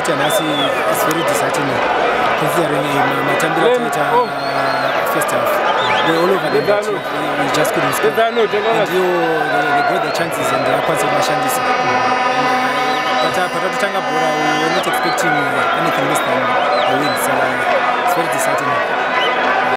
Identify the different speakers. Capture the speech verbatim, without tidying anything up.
Speaker 1: result yanasi is very disheartening considering matambira taita first half. We're all over the match. We just couldn't score. And you, they got the chances and they are quite mashandisa. But uh, but Bora, we were not expecting